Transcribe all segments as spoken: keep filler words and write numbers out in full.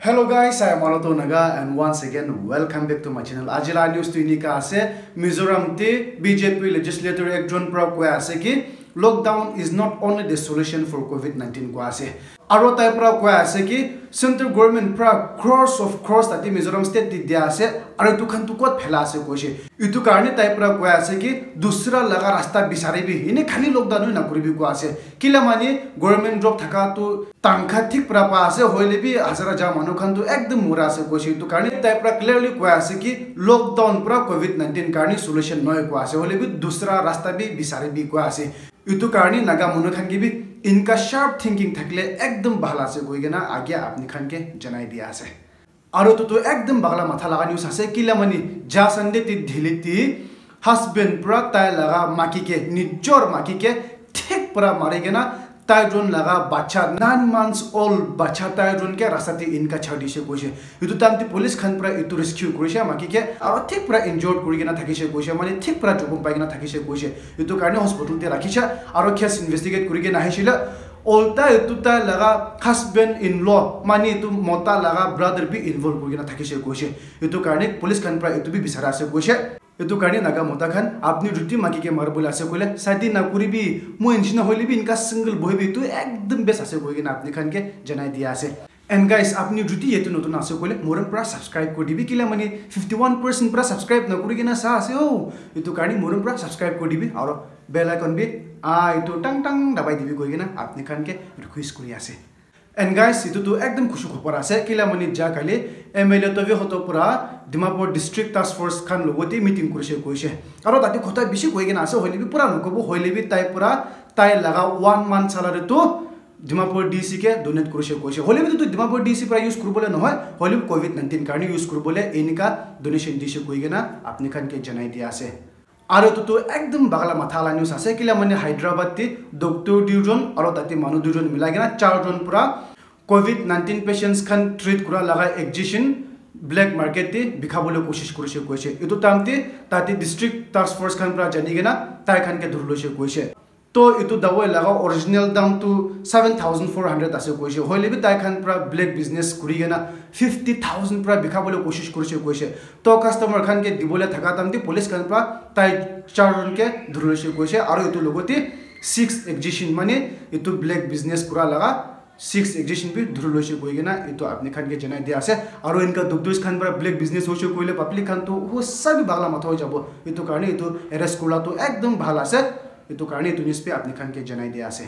Hello guys, I am Aloto Naga and once again welcome back to my channel. Aji la news tu inika ase, Mizoram te B J P legislator ekjon pra koi ase ki lockdown is not only the solution for covid nineteen koi ase. Aro tai pra koi ase ki central government pra crores of crores tati Mizoram state te dia ase, aro etu khan tu kot phela ase koise. Etu karne tai pra koi ase ki dusra laga rasta bisari bi, ene khali lockdown na kuribi koi ase. Kila mani government job thaka tu tankha thik pra pa ase, hoile bi hazara ja manu khan tu ekdum mura ase koise. Etu karne tai pra clearly koi ase ki lockdown pra covid nineteen karne solution nohoi koi ase, hoile bi dusra rasta bi bisari bi koi ase. Etu karne Naga manu khan ke bi inka sharp thinking thakile ekdum bhal ase koi kena age apni khan ke janai dia ase. Aro etu tu ekdum bagla matha laga news ase, kila mani ja Sunday te Delhi te husband pra tai laga maki ke, nijor maki ke thik pra mari kena tai jon laga bacha, nine months old bacha tai jon ke rasta te inka chhar dise koise. Etu time te police khan pra etu rescue kurise maki ke, aro thik pra injured kuri kena thakise koise, mane thik pra jokhom pai kena thakise koise. Etu karne hospital te rakhisha, aro case investigate kuri kena ahisile, olta etu tai laga husband in law, mane etu mota laga brother bi involve kuri kena thakise koise. Etu karne police khan pra etu bi bisara ase koise. Etu karne Naga mota khan, apni jodi maki ke maribole ase koile, shadi na kuribi, moi nishina hoile bi inka single bohibi, etu ekdum best ase koi kena apni khan ke janai dia ase. And guys, apni jodi yetu notun ase koile, morom pra subscribe kuri dibi, kila mani fifty one percent pra subscribe na kuri kena sa ase, oh, etu karne morom pra subscribe kuri dibi, aro bell icon bi, ah, etu tang tang dabai dibi koi kena apni khan ke request kuri ase. And guys, etu tu ekdum khushi khobor ase, kila mani ja kali M L A Tove Hoto pura Dimapur District Task Force khan logote meeting kurise koise. Aro tate khota bishi koi kena ase, hoile bi pura nokobo, hoile bi tai pura tai laga one month salary tu Dimapur D C ke donate kurise koise. Hoile bi tu Dimapur D C pura use kuribole nohoi, hoile bi covid nineteen karne use kuribole enika donation dise koi kena apni khan ke janai dia ase. Aro etu tu ekdum bagla matha la news ase, kila mane Hyderabad te doctor duijon aro tate manu duijon milai kena charjon pura covid nineteen patients khan treat kura laga injection black market te bikhabole koshish kurise koise. Etu time te tate district task force khan pura jani kena tai khan ke dhuri loise koise. To etu dawai laga original dam tu seven thousand four hundred ase koise. Hoile bi tai khan pura black business kuri kena fifty thousand pura bikhabole koshish kurise koise. To customer khan ke dibole thaka time te police khan pura tai charjon ke dhuri loise koise. Aro etu logote six injection mane etu black business kura laga six injection bi dhuri loise koi kena etu apni khan ke janai dia ase. Aro inka doctors khan pura black business hoise koile public khan tu hosa bi bagla matha hoi jabo. Etu karne etu arrest kurila tu ekdum bhal ase. Etu karne etu news bi apni khan ke janai dia ase.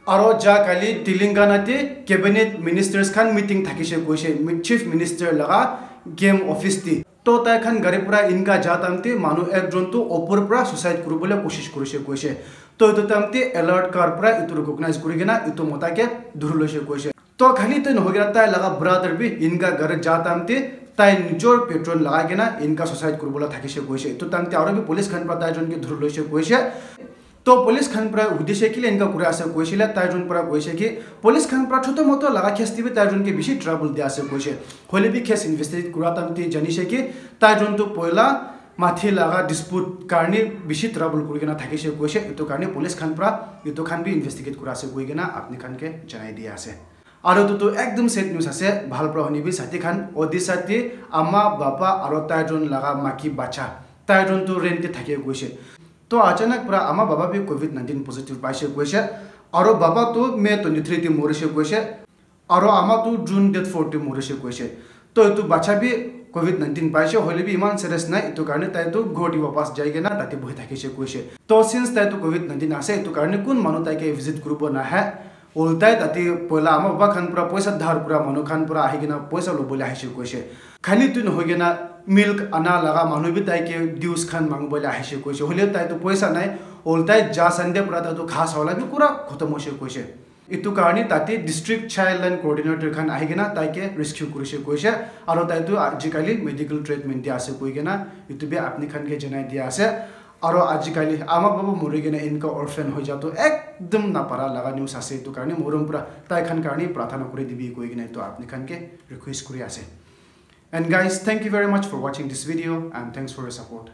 Aro ja kali Telangana te cabinet ministers khan meeting thakise koise, mi-, chief minister laga game office te. To tai khan gari pura inka ja time te manu ekjon tu opor pura suicide kuribole koshish kurise koise. To etu time te alert car pura etu recognize kuri kena etu mota ke dhuri loise koise. To khali etu nohoi kena tai laga brother bi inka gari ja time te tai nijor patron lagai kena inka suicide kuribole thakise koise. Etu time te aro bi police khan pura tai jon ke dhuri loise koise. To police khan pura hudise kile enka kuri ase koisile, tai jon pura koise ki police khan pura choto moto laga case te bi tai jon ke bishi trouble dia ase koise. Hoile bi case investigate kura time te janise ki tai jon tu poila mathi laga dispute karne bishi trouble kuri kena thakise koise. Etu karne police khan pura etu khan bi investigate kura ase koi kena apni khan ke janai dia ase. Aro etu tu ekdum sad news ase, bhal pura huni bi sati khan, Odisha te ama, baba aro tai jon laga maki bacha, tai jon tu rent te thake koise. To achanak pura ama baba bi covid nineteen positive paise koise. Aro baba tu May twenty three te morise koise. Aro ama tu June date four te morise koise. To etu bacha bi covid nineteen paise, hoile bi iman serious nai, etu karne tai tu ghor te wapas jai kena tate bohi thakise koise. To since tai tu covid nineteen ase, etu karne kun manu tai ke visit kuribo nahe. Ultai tate poila ama baba khan pura poisa dhar kura manu khan pura ahi kena poisa lobole ahise koise. Khali tu nohoi kena milk ana laga manu bi tai ke dues khan mangibole ahise koise. Hoile tai tu poisa nai. Ultai ja Sunday pura tai tu kha sa wala bi pura khotom hoise koise. Etu karne tate district child line coordinator khan ahi kena tai ke rescue kurise koise. Aro tai tu ajikali medical treatment te ase koi kena etu bi apni khan ke janai dia ase. Aro ajikali ama baba mori kena enka orphan hoi ja tu ekdum napara laga news ase, etu karne morom pura tai khan karne prarthana kuri dibi koi kena etu apni khan ke request kuri ase. And guys, thank you very much for watching this video and thanks for your support.